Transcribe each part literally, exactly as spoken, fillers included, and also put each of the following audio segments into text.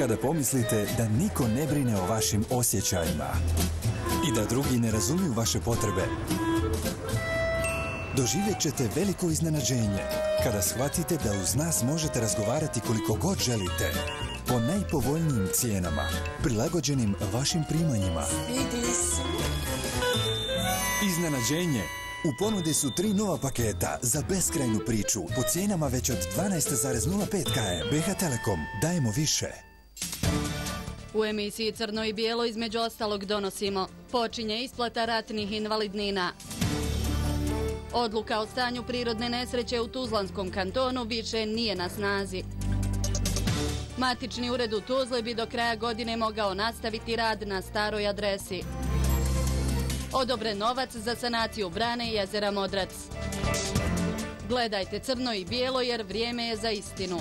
Kada pomislite da niko ne brine o vašim osjećajima i da drugi ne razumiju vaše potrebe, doživjet ćete veliko iznenađenje kada shvatite da uz nas možete razgovarati koliko god želite, po najpovoljnijim cijenama, prilagođenim vašim primanjima. Iznenađenje! U ponudi su tri nova paketa za beskrajnu priču po cijenama već od dvanaest zarez nula pet km. B H Telekom, dajemo više. U emisiji Crno i bijelo između ostalog donosimo: počinje isplata ratnih invalidnina. Odluka o stanju prirodne nesreće u Tuzlanskom kantonu više nije na snazi. Matični ured u Tuzli bi do kraja godine mogao nastaviti rad na staroj adresi. Odobren novac za sanaciju brane i jezera Modrac. Gledajte Crno i bijelo jer vrijeme je za istinu.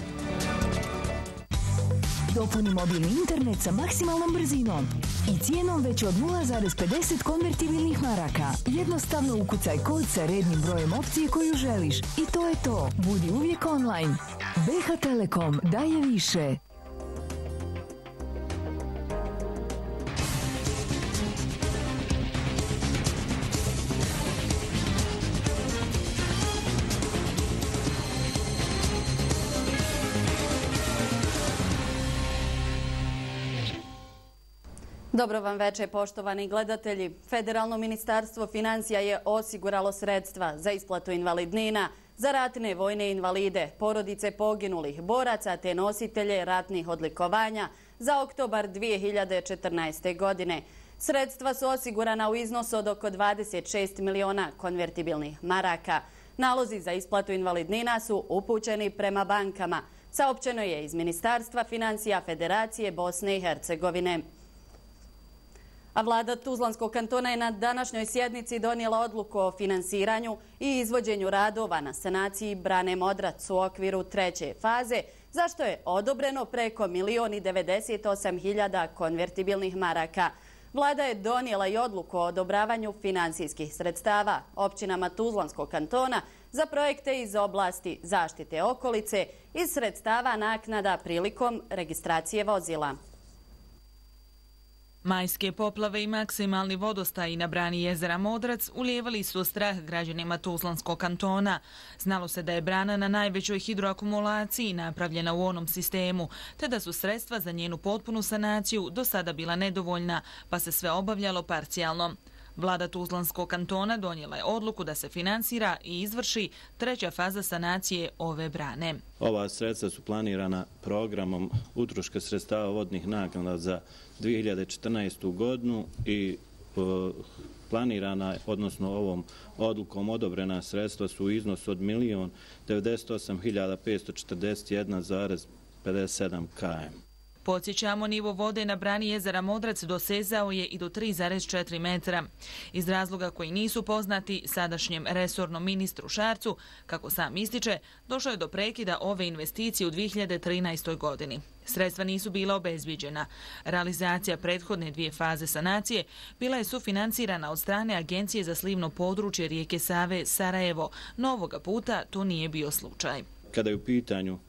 Dopuni mobilni internet sa maksimalnom brzinom i cijenom već od nula zarez pedeset konvertibilnih maraka. Jednostavno ukucaj kod sa rednim brojem opcije koju želiš i to je to. Budi uvijek online. B H Telekom daje više. Dobro vam večer, poštovani gledatelji. Federalno ministarstvo financija je osiguralo sredstva za isplatu invalidnina za ratne vojne invalide, porodice poginulih boraca te nositelje ratnih odlikovanja za oktobar dvije hiljade četrnaeste. godine. Sredstva su osigurana u iznosu od oko dvadeset šest miliona konvertibilnih maraka. Nalozi za isplatu invalidnina su upućeni prema bankama, saopćeno je iz Ministarstva financija Federacije Bosne i Hercegovine. A vlada Tuzlanskog kantona je na današnjoj sjednici donijela odluku o finansiranju i izvođenju radova na sanaciji brane Modrac u okviru treće faze, za što je odobreno preko milion i devedeset osam hiljada konvertibilnih maraka. Vlada je donijela i odluku o odobravanju finansijskih sredstava općinama Tuzlanskog kantona za projekte iz oblasti zaštite okolice iz sredstava naknada prilikom registracije vozila. Majske poplave i maksimalni vodostaji na brani jezera Modrac ulijevali su strah građanima Tuzlanskog kantona. Znalo se da je brana na najvećoj hidroakumulaciji napravljena u onom sistemu, te da su sredstva za njenu potpunu sanaciju do sada bila nedovoljna, pa se sve obavljalo parcijalno. Vlada Tuzlanskog kantona donijela je odluku da se finansira i izvrši treća faza sanacije ove brane. Ova sredstva su planirana programom utroška sredstava vodnih naknada za dvije hiljade četrnaestu. godinu i planirana, odnosno ovom odlukom odobrena sredstva su u iznosu od milion devedeset osam hiljada petsto četrdeset jedan zarez pedeset sedam km. Podsjećamo, nivo vode na brani jezera Modrac dosezao je i do tri zarez četiri metra. Iz razloga koji nisu poznati sadašnjem resornom ministru Šarcu, kako sam ističe, došlo je do prekida ove investicije u dvije hiljade trinaestoj. godini. Sredstva nisu bila obezbiđena. Realizacija prethodne dvije faze sanacije bila je sufinansirana od strane Agencije za slivno područje rijeke Save Sarajevo, no ovoga puta to nije bio slučaj. Kada je u pitanju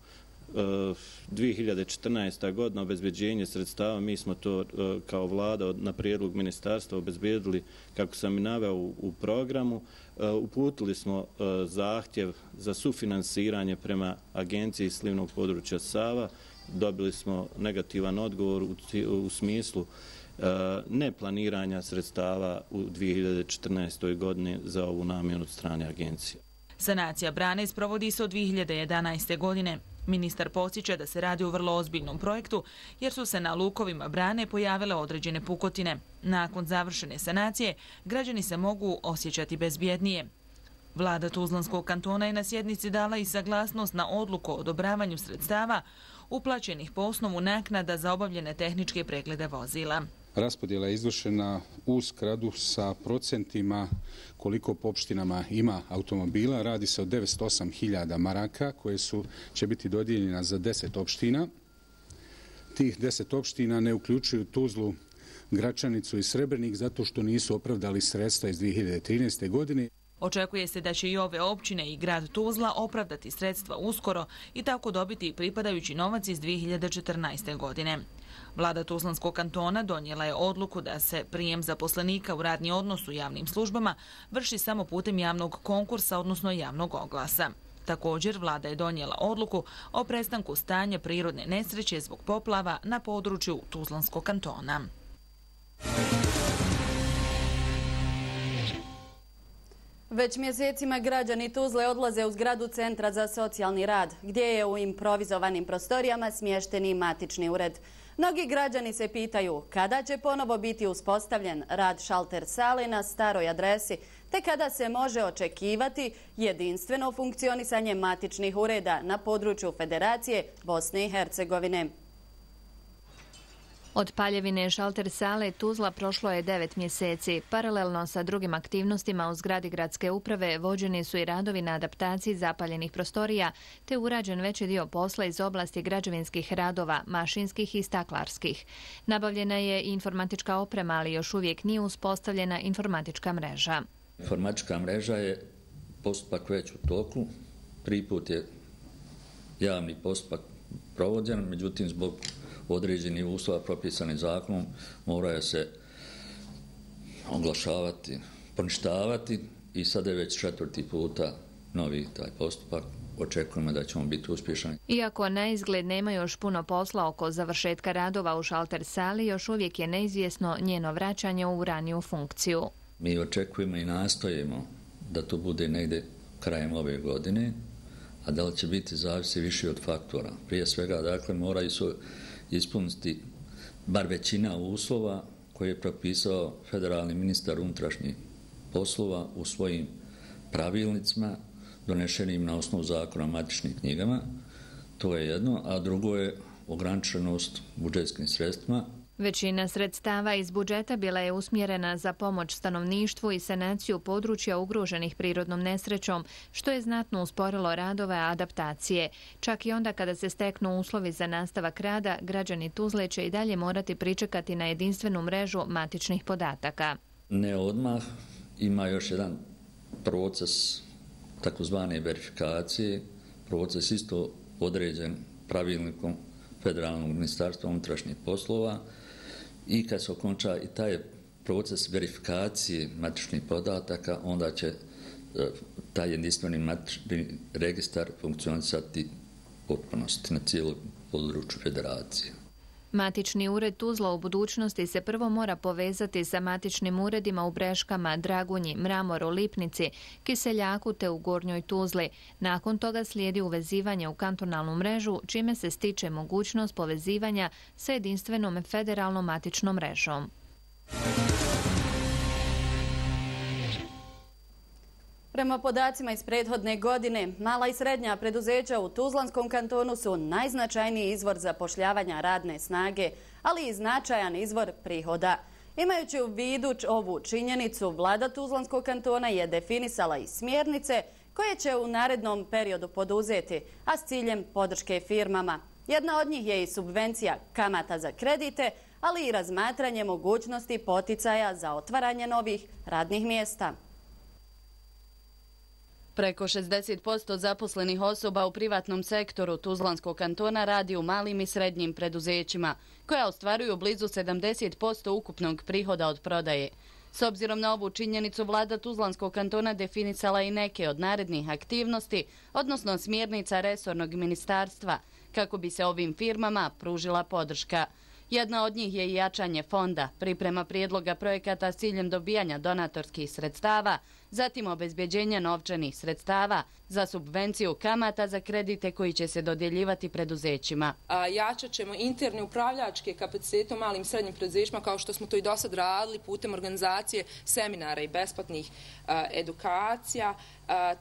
dvije hiljade četrnaesta. godina obezbeđenje sredstava, mi smo to kao vlada na prijedlog ministarstva obezbedili, kako sam i naveo u programu. Uputili smo zahtjev za sufinansiranje prema Agenciji slivnog područja Sava. Dobili smo negativan odgovor u smislu neplaniranja sredstava u dvije hiljade četrnaestoj. godini za ovu namjenu od strane agencije. Sanacija brane sprovodi se od dvije hiljade jedanaeste. godine. Ministar podsjeća da se radi o vrlo ozbiljnom projektu jer su se na lukovima brane pojavile određene pukotine. Nakon završene sanacije, građani se mogu osjećati bezbjednije. Vlada Tuzlanskog kantona je na sjednici dala i saglasnost na odluku o odobravanju sredstava uplaćenih po osnovu naknada za obavljene tehničke preglede vozila. Raspodjela je izvršena u skladu sa procentima koliko po opštinama ima automobila. Radi se o devetsto osam hiljada maraka koje su, će biti dodijeljena za deset opština. Tih deset opština ne uključuju Tuzlu, Gračanicu i Srebrnik zato što nisu opravdali sredstva iz dvije hiljade trinaeste. godine. Očekuje se da će i ove općine i grad Tuzla opravdati sredstva uskoro i tako dobiti pripadajući novac iz dvije hiljade četrnaeste. godine. Vlada Tuzlanskog kantona donijela je odluku da se prijem zaposlenika u radni odnos u javnim službama vrši samo putem javnog konkursa, odnosno javnog oglasa. Također, vlada je donijela odluku o prestanku stanja prirodne nesreće zbog poplava na području Tuzlanskog kantona. Već mjesecima građani Tuzle odlaze u zgradu Centra za socijalni rad, gdje je u improvizovanim prostorijama smješteni matični ured. Mnogi građani se pitaju kada će ponovo biti uspostavljen rad šalter sale na staroj adresi, te kada se može očekivati jedinstveno funkcionisanje matičnih ureda na području Federacije Bosne i Hercegovine. Od paljevine šalter sale Tuzla prošlo je devet mjeseci. Paralelno sa drugim aktivnostima u zgradi gradske uprave vođeni su i radovi na adaptaciji zapaljenih prostorija, te urađen veći dio posla iz oblasti građevinskih radova, mašinskih i staklarskih. Nabavljena je i informatička oprema, ali još uvijek nije uspostavljena informatička mreža. Informatička mreža je postupak već u toku. Prvi put je javni postupak provođen, međutim zbog određenih uslova propisanih zakonom moraju se oglašavati, poništavati i sada je već četvrti puta novi taj postupak. Očekujemo da ćemo biti uspješni. Iako na izgled nema još puno posla oko završetka radova u šalter sali, još uvijek je neizvjesno njeno vraćanje u raniju funkciju. Mi očekujemo i nastojimo da to bude negdje krajem ove godine, a da li će biti zavisi više od faktora. Prije svega, dakle, moraju su ispuniti bar većina uslova koje je propisao federalni ministar unutrašnjih poslova u svojim pravilnicima donešenim na osnovu zakona o matičnim knjigama. To je jedno, a drugo je ograničenost budžetskim sredstvima. Većina sredstava iz budžeta bila je usmjerena za pomoć stanovništvu i sanaciju područja ugroženih prirodnom nesrećom, što je znatno usporilo radove adaptacije. Čak i onda kada se steknu uslovi za nastavak rada, građani Tuzle će i dalje morati pričekati na jedinstvenu mrežu matičnih podataka. Ne odmah, ima još jedan proces takozvane verifikacije, proces isto određen pravilnikom Federalnog ministarstva unutrašnjih poslova, i kad se okonča i taj proces verifikacije matičnih podataka, onda će taj jedinstveni matični registar funkcionisati potpunosti na cijelom području Federacije. Matični ured Tuzla u budućnosti se prvo mora povezati sa matičnim uredima u Breškama, Dragunji, Mramoru, Lipnici, Kiseljaku te u Gornjoj Tuzli. Nakon toga slijedi uvezivanje u kantonalnu mrežu, čime se stiče mogućnost povezivanja sa jedinstvenom federalnom matičnom mrežom. Prema podacima iz prethodne godine, mala i srednja preduzeća u Tuzlanskom kantonu su najznačajniji izvor zapošljavanja radne snage, ali i značajan izvor prihoda. Imajući u vidu ovu činjenicu, vlada Tuzlanskog kantona je definisala i smjernice koje će u narednom periodu poduzeti, a s ciljem podrške firmama. Jedna od njih je i subvencija kamata za kredite, ali i razmatranje mogućnosti poticaja za otvaranje novih radnih mjesta. Preko šezdeset posto zaposlenih osoba u privatnom sektoru Tuzlanskog kantona radi u malim i srednjim preduzećima, koja ostvaruju blizu sedamdeset posto ukupnog prihoda od prodaje. S obzirom na ovu činjenicu, vlada Tuzlanskog kantona definisala i neke od narednih aktivnosti, odnosno smjernica resornog ministarstva, kako bi se ovim firmama pružila podrška. Jedna od njih je i jačanje fonda, priprema prijedloga projekata s ciljem dobijanja donatorskih sredstava, zatim obezbeđenja novčanih sredstava za subvenciju kamata za kredite koji će se dodjeljivati preduzećima. Jačat ćemo interni upravljačke kapacitete u malim i srednjim preduzećima, kao što smo to i do sad radili putem organizacije seminara i besplatnih edukacija,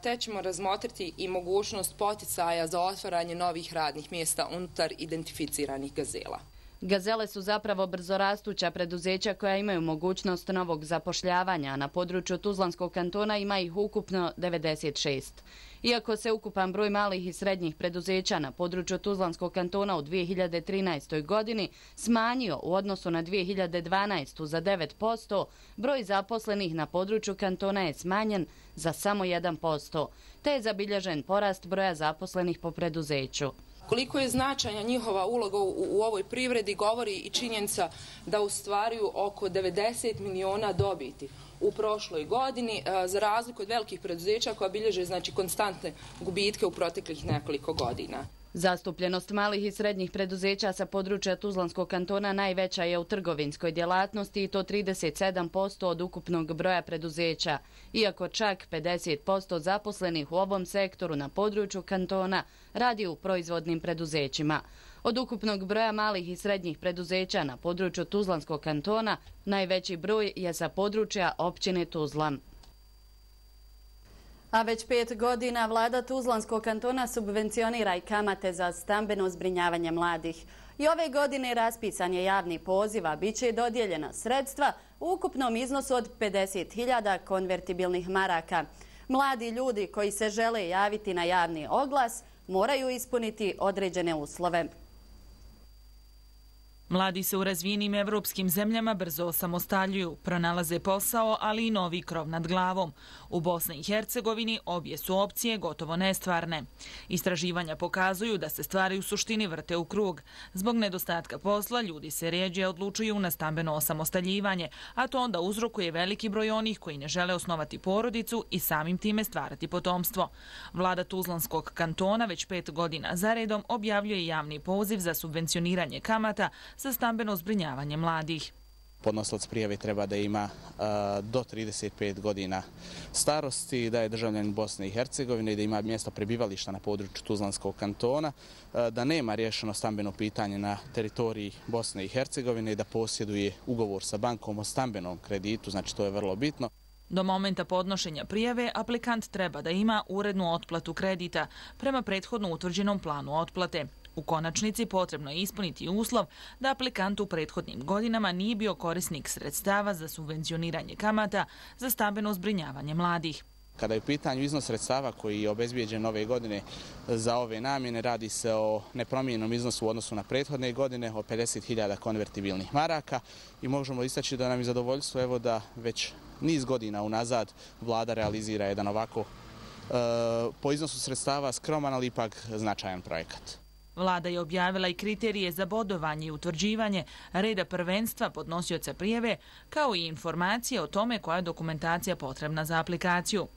te ćemo razmotriti i mogućnost poticaja za otvaranje novih radnih mjesta unutar identificiranih gazela. Gazele su zapravo brzorastuća preduzeća koja imaju mogućnost novog zapošljavanja. Na području Tuzlanskog kantona ima ih ukupno devedeset šest. Iako se ukupan broj malih i srednjih preduzeća na području Tuzlanskog kantona u dvije hiljade trinaestoj. godini smanjio u odnosu na dvije hiljade dvanaestu. za devet posto, broj zaposlenih na području kantona je smanjen za samo jedan posto, te je zabilježen porast broja zaposlenih po preduzeću. Koliko je značajna njihova uloga u, u ovoj privredi govori i činjenica da ostvaruju oko devedeset miliona dobiti u prošloj godini, za razliku od velikih preduzeća koja bilježe znači konstantne gubitke u proteklih nekoliko godina. Zastupljenost malih i srednjih preduzeća sa područja Tuzlanskog kantona najveća je u trgovinskoj djelatnosti i to trideset sedam posto od ukupnog broja preduzeća, iako čak pedeset posto zaposlenih u ovom sektoru na području kantona radi u proizvodnim preduzećima. Od ukupnog broja malih i srednjih preduzeća na području Tuzlanskog kantona najveći broj je sa područja općine Tuzla. A već pet godina vlada Tuzlanskog kantona subvencionira i kamate za stambeno zbrinjavanje mladih. I ove godine raspisan je javni poziv, a bit će dodijeljena sredstva u ukupnom iznosu od pedeset hiljada konvertibilnih maraka. Mladi ljudi koji se žele javiti na javni oglas moraju ispuniti određene uslove. Mladi se u razvijenim evropskim zemljama brzo osamostaljuju, pronalaze posao, ali i novi krov nad glavom. U Bosni i Hercegovini obje su opcije gotovo nestvarne. Istraživanja pokazuju da se stvari u suštini vrte u krug. Zbog nedostatka posla ljudi se rjeđe odlučuju na stambeno osamostaljivanje, a to onda uzrokuje veliki broj onih koji ne žele osnovati porodicu i samim time stvarati potomstvo. Vlada Tuzlanskog kantona već pet godina zaredom objavljuje javni poziv za subvencioniranje kamata za stambeno zbrinjavanje mladih. Podnosilac prijave treba da ima a, do trideset pet godina starosti, da je državljanin Bosne i Hercegovine i da ima mjesto prebivališta na području Tuzlanskog kantona, a, da nema riješeno stambeno pitanje na teritoriji Bosne i Hercegovine i da posjeduje ugovor sa bankom o stambenom kreditu, znači to je vrlo bitno. Do momenta podnošenja prijave aplikant treba da ima urednu otplatu kredita prema prethodno utvrđenom planu otplate. U konačnici potrebno je ispuniti uslov da aplikant u prethodnim godinama nije bio korisnik sredstava za subvencioniranje kamata za stambeno zbrinjavanje mladih. Kada je u pitanju iznos sredstava koji je obezbijeđen ove godine za ove namjene, radi se o nepromijenjenom iznosu u odnosu na prethodne godine, o pedeset hiljada konvertibilnih maraka i možemo istaći da nam je zadovoljstvo evo da već niz godina unazad vlada realizira jedan ovako e, po iznosu sredstava skroman, ali ipak značajan projekat. Vlada je objavila i kriterije za bodovanje i utvrđivanje reda prvenstva podnosioca prijave, kao i informacije o tome koja je dokumentacija potrebna za aplikaciju.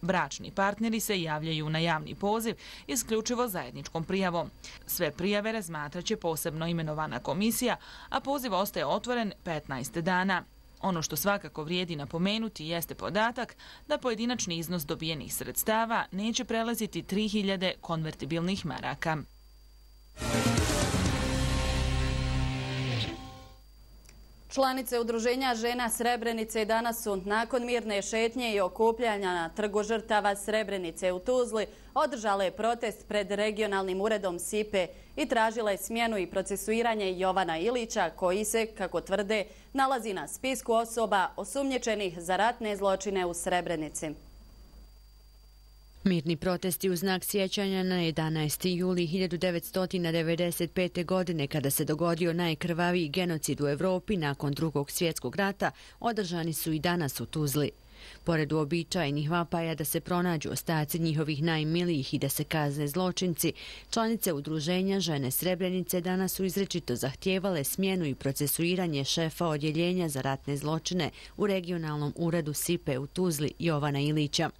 Bračni partneri se javljaju na javni poziv isključivo zajedničkom prijavom. Sve prijave razmatraće posebno imenovana komisija, a poziv ostaje otvoren petnaest dana. Ono što svakako vrijedi napomenuti jeste podatak da pojedinačni iznos dobijenih sredstava neće prelaziti tri hiljade konvertibilnih maraka. Članice Udruženja žena Srebrenice danas su nakon mirne šetnje i okupljanja na trgu žrtava Srebrenice u Tuzli održale protest pred regionalnim uredom S I P E i tražile smjenu i procesuiranje Jovana Ilića koji se, kako tvrde, nalazi na spisku osoba osumnjičenih za ratne zločine u Srebrenici. Mirni protesti u znak sjećanja na jedanaesti juli hiljadu devetsto devedeset pete. godine, kada se dogodio najkrvaviji genocid u Evropi nakon Drugog svjetskog rata, održani su i danas u Tuzli. Pored uobičajenih vapaja da se pronađu ostaci njihovih najmilijih i da se kazne zločinci, članice Udruženja žene Srebrenice danas su izrečito zahtijevale smjenu i procesuiranje šefa odjeljenja za ratne zločine u regionalnom uredu S I P E u Tuzli, Jovana Ilića.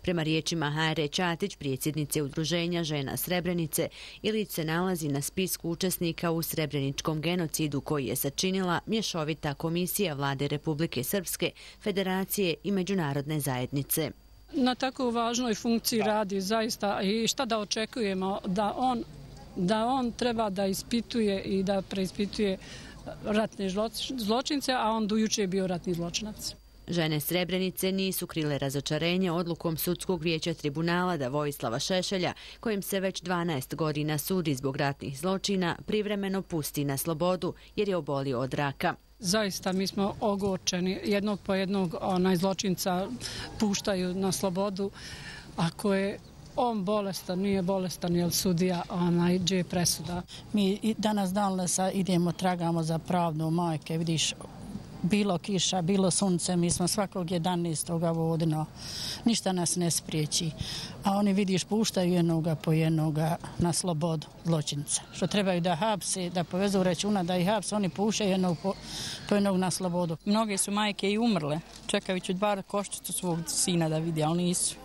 Prema riječima H R Ćatić, predsjednice Udruženja žena Srebrenice, Ilić se nalazi na spisku učesnika u srebreničkom genocidu koji je sačinila mješovita komisija vlade Republike Srpske, Federacije i međunarodne zajednice. Na tako važnoj funkciji radi zaista i šta da očekujemo da on, da on treba da ispituje i da preispituje ratne zločince, a on do juče je bio ratni zločinac. Žene Srebrenice nisu krile razočarenje odlukom Sudskog vijeća tribunala da Vojislava Šešelja, kojim se već dvanaest godina sudi zbog ratnih zločina, privremeno pusti na slobodu jer je obolio od raka. Zaista mi smo ogorčeni. Jednog po jednog onaj zločinca puštaju na slobodu. Ako je on bolestan, nije bolestan, jer sudija onaj gdje je presuda. Mi danas dan idemo, tragamo za pravdu majke, vidiš, bilo kiša, bilo sunce, mi smo svakog jedanaestog vodino, ništa nas ne spriječi. A oni, vidiš, puštaju jednoga po jednoga na slobodu zločinca. Što trebaju da hapse, da povezu računa, da ih hapse, oni puštaju jednog po, po jednog na slobodu. Mnoge su majke i umrle, čekajući bar koščicu svog sina da vidi, ali nisu.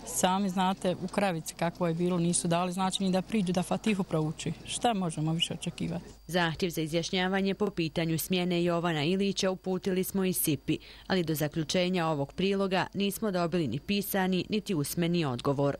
Sami znate u Kravici kako je bilo, nisu dali znači ni da priđu da Fatihu prouči. Šta možemo više očekivati? Zahtjev za izjašnjavanje po pitanju smjene Jovana Ilića uputili smo i S I P I, ali do zaključenja ovog priloga nismo dobili ni pisani, niti usmeni odgovor.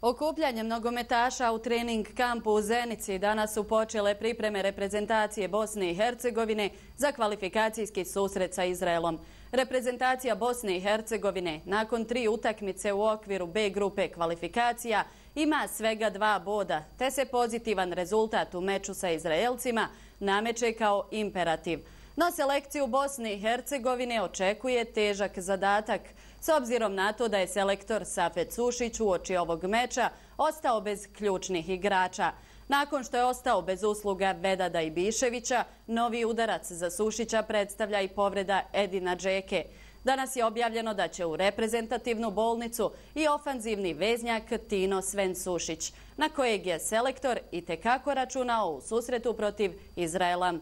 Okupljanjem nogometaša u trening kampu u Zenici danas su počele pripreme reprezentacije Bosne i Hercegovine za kvalifikacijski susret sa Izraelom. Reprezentacija Bosne i Hercegovine nakon tri utakmice u okviru B grupe kvalifikacija ima svega dva boda, te se pozitivan rezultat u meču sa Izraelcima nameće kao imperativ. No selekciju Bosne i Hercegovine očekuje težak zadatak, s obzirom na to da je selektor Safet Sušić uoči ovog meča ostao bez ključnih igrača. Nakon što je ostao bez usluga Vedada Ibiševića, novi udarac za Sušića predstavlja i povreda Edina Džeke. Danas je objavljeno da će u reprezentativnu bolnicu i ofanzivni veznjak Tino Sven Sušić, na kojeg je selektor itekako računao u susretu protiv Izraela.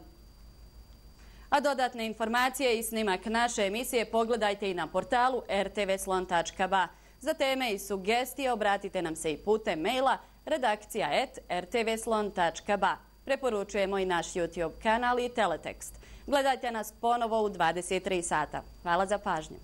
A dodatne informacije i snimak naše emisije pogledajte i na portalu r t v slon tačka b a. Za teme i sugestije obratite nam se i putem maila redakcija et r t v slon tačka b a. Preporučujemo i naš YouTube kanal i teletekst. Gledajte nas ponovo u dvadeset tri sata. Hvala za pažnju.